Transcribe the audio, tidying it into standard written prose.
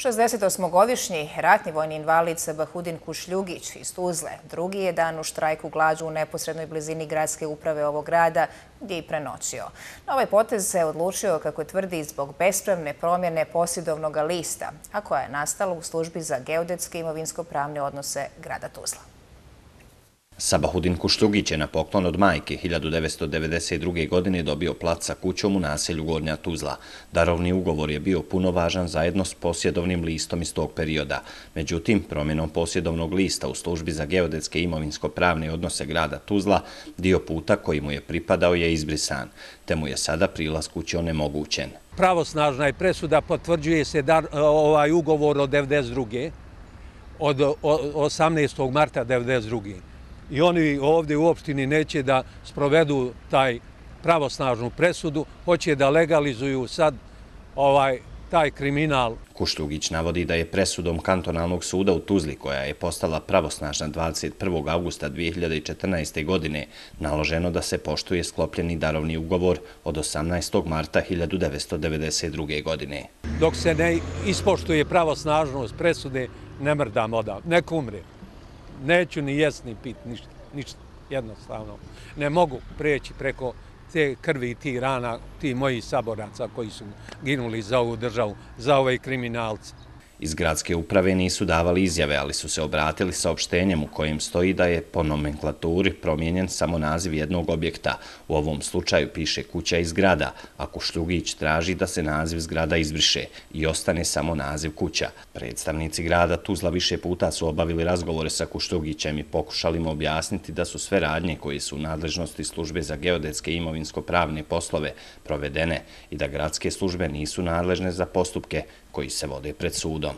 68-godišnji ratni vojni invalid Sabahudin Kušljugić iz Tuzle drugi je dan u štrajku glađu u neposrednoj blizini gradske uprave ovog grada, gdje je i prenoćio. Na ovaj potez se odlučio, kako tvrdi, zbog bespravne promjene posjedovnog lista, a koja je nastala u službi za geodetske i imovinsko-pravne odnose grada Tuzla. Sabahudin Kušljugić je na poklon od majke 1992. godine dobio plac sa kućom u naselju Gornja Tuzla. Darovni ugovor je bio punovažan zajedno s posjedovnim listom iz tog perioda. Međutim, promjenom posjedovnog lista u službi za geodetske i imovinsko-pravne odnose grada Tuzla, dio puta koji mu je pripadao je izbrisan, te mu je sada prilaz kući onemogućen. Pravosnažna je presuda, potvrđuje se ovaj ugovor od 1992. od 18. marta 1992. I oni ovdje u opštini neće da sprovedu taj pravosnažnu presudu, hoće da legalizuju sad taj kriminal. Kušljugić navodi da je presudom kantonalnog suda u Tuzli, koja je postala pravosnažna 21. augusta 2014. godine, naloženo da se poštuje sklopljeni darovni ugovor od 18. marta 1992. godine. Dok se ne ispoštuje pravosnažnost presude, ne mrdam odavde, nek umre. Neću ni jest ni pit, ništa, jednostavno. Ne mogu preći preko te krvi i tih rana, ti mojih saboraca koji su ginuli za ovu državu, za ove kriminalce. Iz gradske uprave nisu davali izjave, ali su se obratili saopštenjem u kojem stoji da je po nomenklaturi promijenjen samo naziv jednog objekta. U ovom slučaju piše kuća iz grada, a Kušljugić traži da se naziv zgrada izbriše i ostane samo naziv kuća. Predstavnici grada Tuzla više puta su obavili razgovore sa Kušljugićem i pokušali mu objasniti da su sve radnje koje su u nadležnosti službe za geodetske i imovinsko-pravne poslove provedene i da gradske službe nisu nadležne za postupke koji se vode pred sudom.